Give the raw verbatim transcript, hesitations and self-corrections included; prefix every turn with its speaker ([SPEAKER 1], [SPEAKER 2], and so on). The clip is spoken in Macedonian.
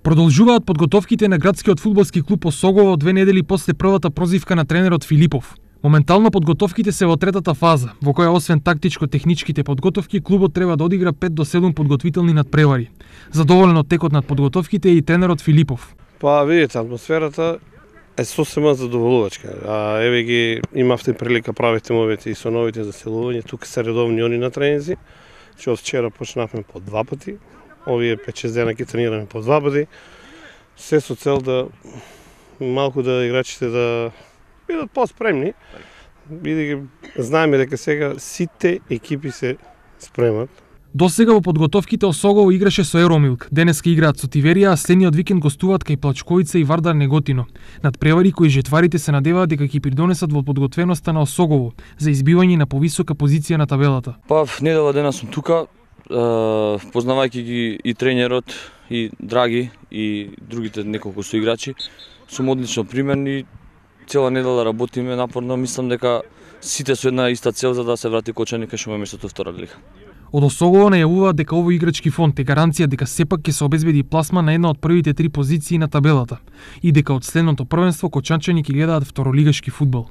[SPEAKER 1] Продолжуваат подготовките на градскиот фудбалски клуб Осогово две недели после првата прозивка на тренерот Филипов. Моментално подготовките се во третата фаза, во која освен тактичко-техничките подготовки, клубот треба да одигра пет до седум подготвителни надпревари. Задоволен од текот над подготовките е и тренерот Филипов.
[SPEAKER 2] Па видите, атмосферата е сосема задоволувачка. А еве ги имавте прилика правите мовите и со новите заселувања, тука се редовни они на тренинзи, че од вчера почнавме по два пати. Овие пет-шест дена ќе тренираме по два пати. Се со цел да малку да играчите да бидат по-спремни, бидејќи знаеме дека сега сите екипи се спремат.
[SPEAKER 1] До сега во подготовките Осогово играше со Еромилк, денеска играат со Тиверија, а следниот викенд гостуваат кај Плачковица и Вардар Неготино. Надпревари кои жетварите се надеваат дека ќе придонесат во подготвеноста на Осогово за избивање на повисока позиција на табелата.
[SPEAKER 3] Па недела дена сум тука, познавајќи ги и тренерот, и Драги, и другите неколку соиграчи, сум одлично примерен и цела недела работиме напорно. Мислам дека сите со една иста цел за да се врати Кочани кај што ме местото втора лига.
[SPEAKER 1] Од Осогово најавуваат дека овој играчки фонд е гаранција дека сепак ќе се обезбеди пласма на една од првите три позиции на табелата и дека од следното првенство кочанчани ќе гледаат второлигашки фудбал.